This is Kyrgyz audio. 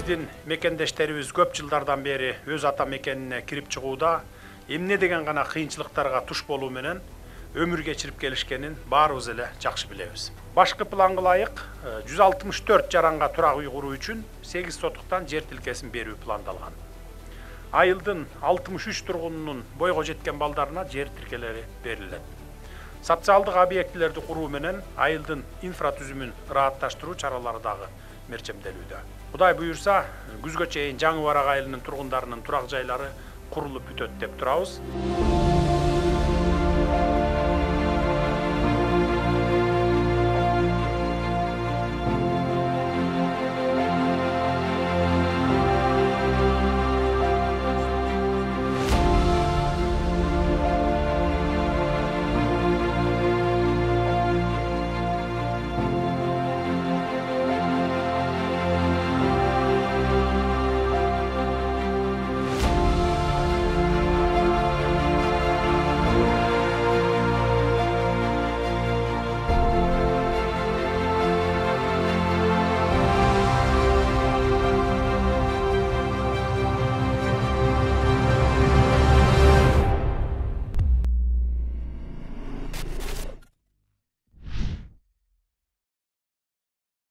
биздин мекендештерибиз көп жылдардан бери өз ата мекенине кирип чыгууда эмне деген гана кыйынчылыктарга туш болуу менен өмүр кечирип келишкенин баарыбыз эле жакшы билебиз. Башкы планга ылайык 164 жаранга турак үй куруу үчүн 8 сотуктан жер тилкесин берүү пландалган. Айылдын 63 тургунунун бойго жеткен балдарына жер тилкелери берилет. Социалдык объектилерди куруу менен айылдын инфратүзүмүн ыраатташтыруу чаралары дагы мерчемделүүдө. Кудай буюрса, күзгө чейин Жаңы Барак айылынын тургундарынын турак жайлары курулуп бүтөт деп турабыз.